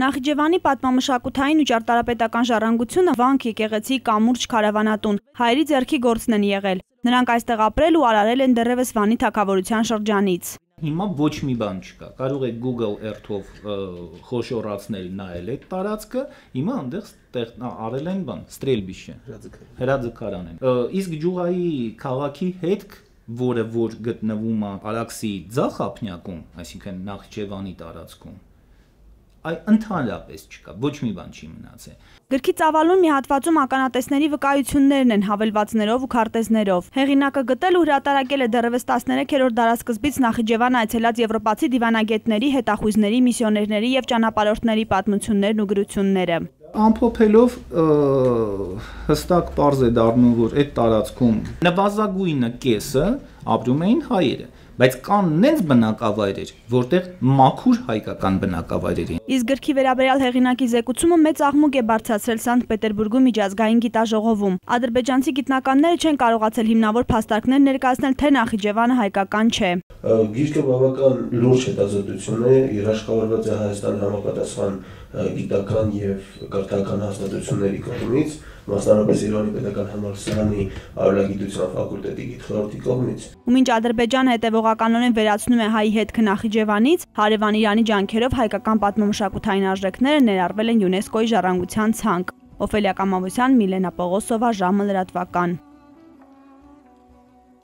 Նախիջևանի պատմամշակութային ու ճարտարապետական ժառանգությունը վանք, եկեղեցի, կամուրջ, քարավանատուն հայերի ձեռքի գործն են եղել։ Նրանք այստեղ ապրել ու արարել են դեռևս Վանի թագավորության շրջանից։ Հիմա ոչ մի բան չկա, կարող եք Google Earth-ով խոշորացնել նայել այդ տարածքը, հիմա այնտեղ արել են բան, ստրելբիշը, հրաձգարան են։ Իսկ Ջուղայի քաղաքի հետք, որը որ գտնվում է Արաքսի ձախ ափնյակում, այսինքն Նախիջևանի տարածքում, ընդհանրապես չկա, ոչ մի բան չի մնացել։ Գրքի ծավալուն մի հատվածում ականատեսների վկայություններն են հավելվածներով ու քարտեզներով։ Հեղինակը գտել ու հրատարակել է դեռևս 13-րդ դարասկզբից Նախիջևան այցելած եվրոպացի դիվանագետների, հետախույզների, միսիոներների եւ ճանապարհորդների պատմություններն ու գրությունները։ Ամփոփելով հստակ պարզ է դառնում, որ այդ տարածքում նվազագույնը կեսը ապրում էին հայերը, բայց կան նենց բնակավայրեր, որտեղ մաքուր հայկական բնակավայրեր են։ Իսկ գրքի վերաբերյալ հեղինակի զեկուցումը մեծ աղմուկ է բարձրացրել Սանտ Պետերբուրգում միջազգային գիտաժողովում։ Ադրբեջանցի գիտնականները չեն կարողացել հիմնավոր փաստարկներ ներկայացնել, թե Նախիջևանը հայկական չէ։ Գիրքը բավական լուրջ հետազոտություն է, երաշխավորված է Հայաստանի համապատասխան գիտական եւ կրթական հաստատությունների կողմից, մասնավորապես Երևանի պետական համալսարանի արվեստագիտության ֆակուլտետի գիտխորհրդի կողմից։ Ու մինչ Ադրբեջանը հետևողականորեն վերացնում է հայի հետքը Նախիջևանից, հարևան Իրանի ջանքերով հայկական պատմամշակութային արժեքները ներառվել են ՅՈՒՆԵՍԿՕ-ի ժառանգության ցանկ։ Օֆելիա Կամավոսյան, Միլենա Պողոսովա, ժամը լրատվական։